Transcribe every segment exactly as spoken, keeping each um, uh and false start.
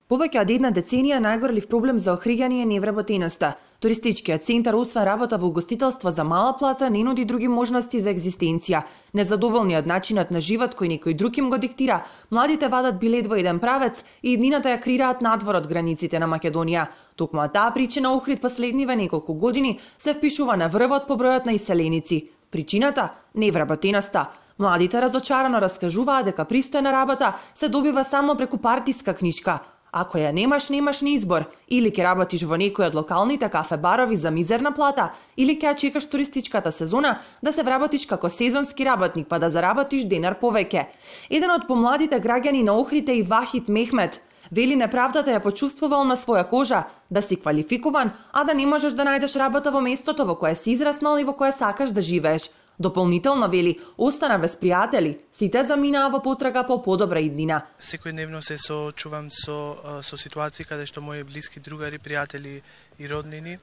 Повеќе од една деценија најгорлив проблем за Охриѓани е невработеноста. Туристичкиот центар, освен работа во угостителство за мала плата, не нуди други можности за екзистенција. Незадоволни од начинот на живот кој некој друг им го диктира, младите вадат билет во еден правец и иднината ја креираат надвор од границите на Македонија. Токму од таа причина Охрид последниве неколку години се впишува на врвот по бројот на иселеници. Причината – невработеноста. Младите разочарано раскажуваат дека пристојна работа се добива само преку партиска книшка. Ако ја немаш, немаш ни избор. Или ќе работиш во некој од локалните кафе-барови за мизерна плата, или ќе ја чекаш туристичката сезона да се вработиш како сезонски работник па да заработиш денар повеќе. Еден од помладите граѓани на Охрид е и Вахид Мехмет. Вели неправдата ја почувствувал на своја кожа, да си квалификуван, а да не можеш да најдеш работа во местото во кое си израснал и во кое сакаш да живееш. Дополнително вели, остана без пријатели, сите заминаа во потрага по подобра иднина. Секојдневно се соочувам со со ситуации каде што мои блиски другари, пријатели и роднини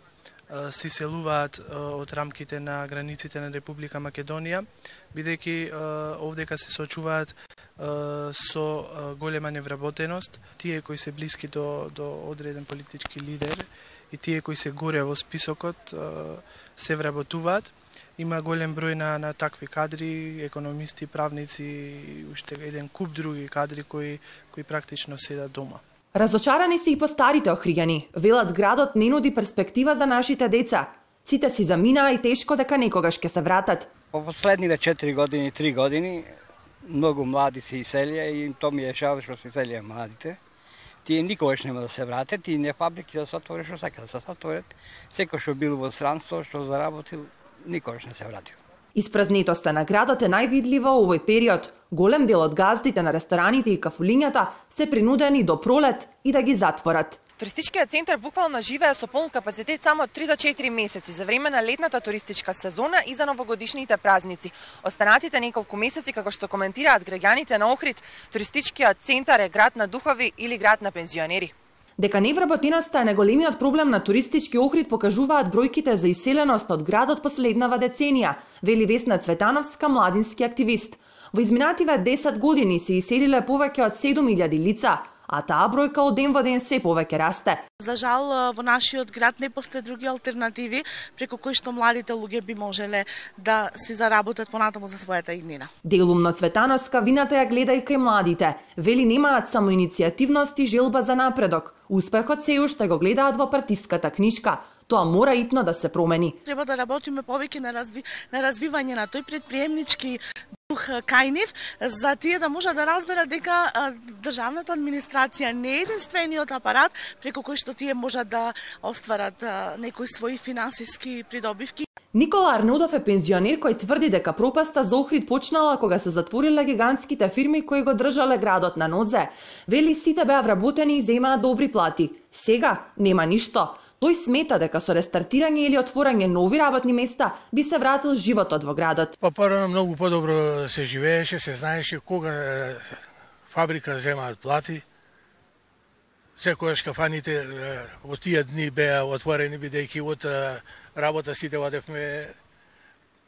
се иселуваат од рамките на границите на Република Македонија, бидејќи овдека се соочуваат со голема невработеност. Тие кои се блиски до до одреден политички лидер и тие кои се горе во списокот се вработуваат. Има голем број на, на такви кадри, економисти, правници и уште еден куп други кадри кои, кои практично седат дома. Разочарани се и по старите Охриѓани. Велат градот не нуди перспектива за нашите деца. Сите си заминаа и тешко дека некогаш ќе се вратат. По последниве четири години, три години, многу млади се иселија и то ми е жал што се иселија младите. Тие никогаш нема да се вратат и не фабрики да се отворат што сака да се отворат. Секој што бил во странство, што заработил, никогаш не се вратил. Испразнетоста на градот е највидлива овој период. Голем дел од газдите на рестораните и кафулињата се принудени до пролет и да ги затворат. Туристичкиот центар буквално живее со полн капацитет само три до четири месеци за време на летната туристичка сезона и за новогодишните празници. Останатите неколку месеци, како што коментираат граѓаните на Охрид, туристичкиот центар е град на духови или град на пензионери. Дека невработеноста е најголемиот проблем на туристички Охрид покажуваат бројките за иселеност од градот последнава деценија, вели Весна Цветановска, младински активист. Во изминативе десет години се иселиле повеќе од седум илјади лица, а таа бројка од ден во ден се повеќе расте. За жал, во нашиот град не постои други алтернативи преку кои што младите луѓе би можеле да си заработат понатаму за својата иднина. Делумно Цветановска вината ја гледа и кај младите. Вели немаат само иницијативност и желба за напредок. Успехот се уште го гледаат во партиската книшка. Тоа мора итно да се промени. Треба да работиме повеќе на, разви... на развивање на тој предприемнички дух кај нив, за тие да може да разберат дека државната администрација не е единствениот апарат преку кој што тие можат да остварат некои своји финансиски придобивки. Никола Арнодов е пензионер кој тврди дека пропаста за Охрид почнала кога се затвориле гигантските фирми кои го држале градот на нозе. Вели сите беа вработени и земаат добри плати. Сега нема ништо. Тој смета дека со рестартирање или отворање нови работни места би се вратил животот во градот. Па порано многу подобро се живееше, се знаеше кога фабрика земаат плати. Секогаш кафаните од тие дни беа отворени бидејќи од работа сите одевме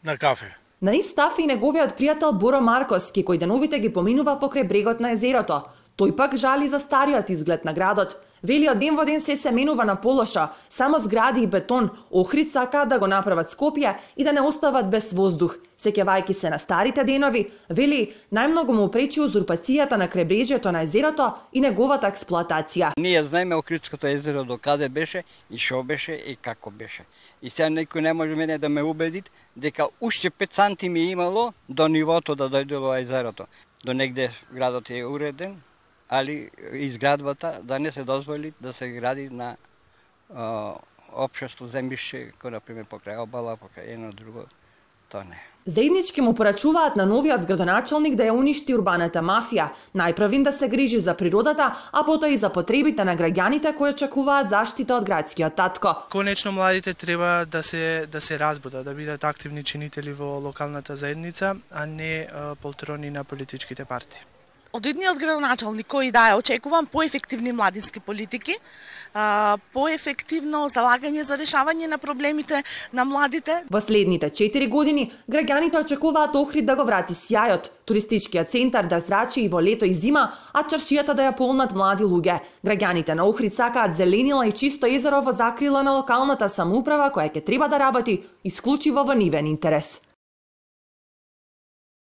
на кафе. На ист став и неговиот пријател Боро Марковски, кој деновите ги поминува покрај брегот на езерото. Тој пак жали за стариот изглед на градот. Вели од ден во ден се се менува на полоша, само згради и бетон. Охрид сакаат да го направат Скопје и да не остават без воздух. Сеќавајќи се на старите денови, вели најмногу му пречи узурпацијата на кребрежјето на езерото и неговата експлоатација. Ние знаеме Охридското езеро до каде беше и шо беше и како беше. И сега некој не може мене да ме убеди дека уште пет сантими имало до нивото да дојдело езерото. До негде градот е уреден, али изградбата да не се дозволи да се гради на а, општество земјиште, кој например покрај обала, покрај едно друго, тоа не. Заеднички му порачуваат на новиот градоначалник да ја уништи урбаната мафија, најпрвин да се грижи за природата, а потоа и за потребите на граѓаните кои очекуваат заштита од градскиот татко. Конечно младите треба да се да се разбудат, да бидат активни чинители во локалната заедница, а не а, полтрони на политичките партии. Од едниот градоначалник кој да е очекувам поефективни младински политики, поефективно залагање за решавање на проблемите на младите. Во следните четири години граѓаните очекуваат Охрид да го врати сјајот, туристичкиот центар да зрачи и во лето и зима, а чаршијата да ја полнат млади луѓе. Граѓаните на Охрид сакаат зеленила и чисто езеро во закрила на локалната самоуправа која ќе треба да работи исклучиво во нивен интерес.